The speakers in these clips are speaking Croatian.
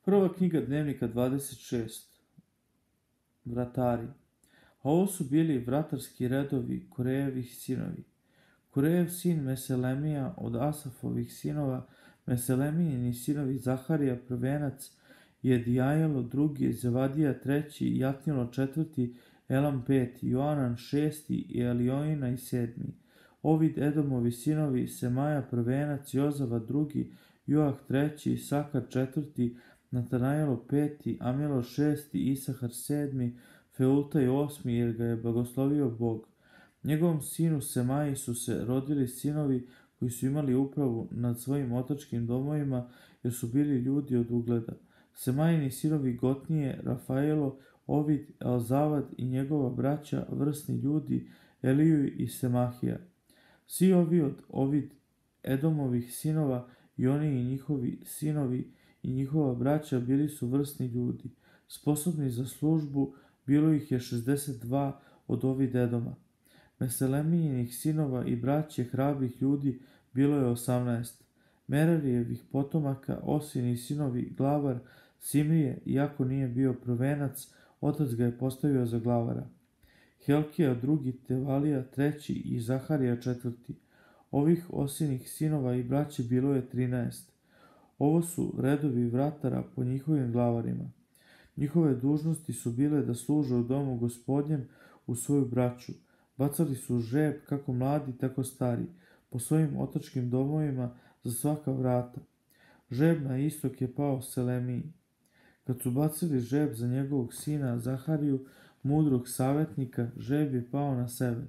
Prva knjiga Dnevnika 26. Vratari. A ovo su bili vratarski redovi Korejevih sinovi. Korejev sin Meselemija od Asafovih sinova, Meselemijini sinovi Zaharija prvenac, Jedijajelo drugi, Zevadija treći, Jatnilo četvrti, Elam peti, Joanan šesti i Eliojina i sedmi. Ovid Edomovi sinovi, Semaja prvenac, Jozava drugi, Joah treći, Sakar četvrti, Natanajelo peti, Amilo šesti, Isahar sedmi, Feultaj osmi, jer ga je blagoslovio Bog. Njegovom sinu Semaji su se rodili sinovi koji su imali upravu nad svojim otačkim domovima, jer su bili ljudi od ugleda. Semajini sinovi Gotnije, Rafaelo, Ovid, Elzavad i njegova braća, vrsni ljudi, Eliju i Semahija. Svi ovi od Ovid Edomovih sinova i oni i njihovi sinovi i njihova braća bili su vrsni ljudi. Sposobni za službu bilo ih je 62 od Ovid Edoma. Meselemijinih sinova i braće hrabrih ljudi bilo je 18. Merarijevih potomaka, Osini sinovi, glavar Simrije, iako nije bio prvenac, otac ga je postavio za glavara. Helkija drugi, Tevalija treći i Zaharija četvrti. Ovih Osinih sinova i braće bilo je 13. Ovo su redovi vratara po njihovim glavarima. Njihove dužnosti su bile da služe u domu Gospodnjem u svoju braću. Bacali su žeb, kako mladi, tako stari, po svojim otačkim domovima za svaka vrata. Žeb na istok je pao Selemiji. Kad su bacili žeb za njegovog sina Zahariju, mudrog savjetnika, žeb je pao na sever.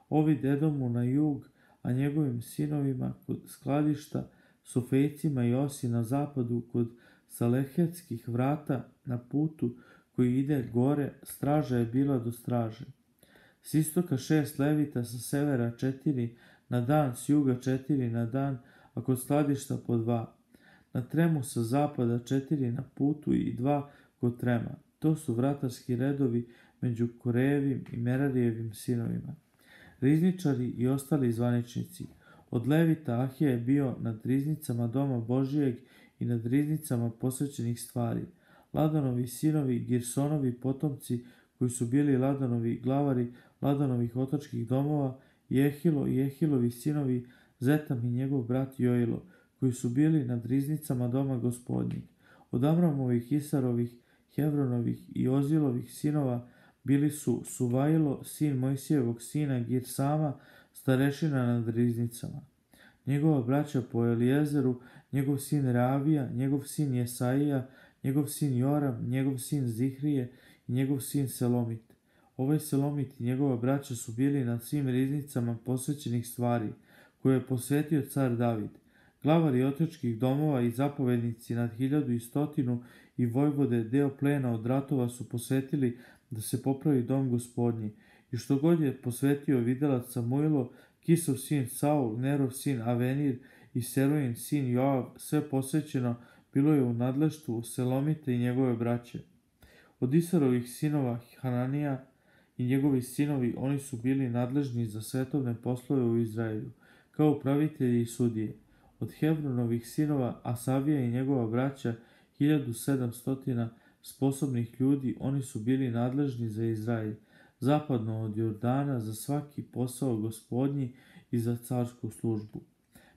Ovid Edomu na jug, a njegovim sinovima kod skladišta, Sofejcima i Osi na zapadu, kod Salehetskih vrata na putu koji ide gore, straža je bila do straže. S istoka 6 levita, sa severa 4 na dan, s juga 4 na dan, a kod skladišta po 2. Na tremu sa zapada 4 na putu i 2 kod trema. To su vratarski redovi među Korejevim i Merarijevim sinovima. Rizničari i ostali zvaničnici. Od levita Ahija je bio nad riznicama doma Božijeg i nad riznicama posvećenih stvari. Ladanovi sinovi, Girsonovi potomci, koji su bili Ladanovi glavari Ladanovih otačkih domova, Jehilo i Jehilovi sinovi, Zetam i njegov brat Joilo, koji su bili nad riznicama doma Gospodnjeg. Od Amramovih, Isarovih, Hevronovih i Ozilovih sinova bili su Suvajlo, sin Mojsijevog sina Girsama, starešina nad riznicama. Njegova braća po Elijezeru, njegov sin Reavija, njegov sin Jesaija, njegov sin Joram, njegov sin Zihrije i njegov sin Selomit. Ovaj Selomit i njegova braća su bili nad svim riznicama posvećenih stvari, koje je posvetio car David. Glavari otačkih domova i zapovednici nad 1100 i vojvode deo plena od ratova su posvetili da se popravi dom Gospodnji. I što god je posvetio videlac Samuilo, Kisov sin Saul, Nerov sin Avenir i Serojin sin Joav, sve posvećeno bilo je u nadleštvu Selomita i njegove braće. Od Isarovih sinova Hananija i njegovi sinovi, oni su bili nadležni za svetovne poslove u Izraelju, kao upravitelji i sudije. Od Hevronovih sinova Asavija i njegova braća, 1700 sposobnih ljudi, oni su bili nadležni za Izrael, zapadno od Jordana, za svaki posao Gospodnji i za carsku službu.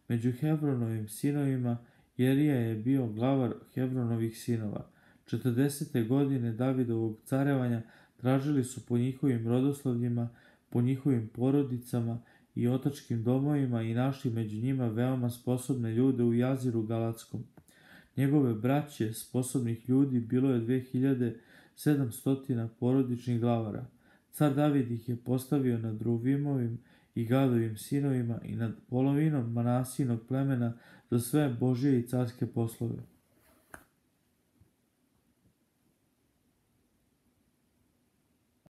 Među Hevronovim sinovima Jerija je bio glavar Hevronovih sinova. 40. godine Davidovog carevanja tražili su po njihovim rodoslovljima, po njihovim porodicama i otačkim domovima i našli među njima veoma sposobne ljude u Jaziru Galatskom. Njegove braće, sposobnih ljudi, bilo je 2700 porodičnih glavara. Car David ih je postavio nad Ruvimovim i Gadovim sinovima i nad polovinom Manasijinog plemena za sve Božje i carske poslove.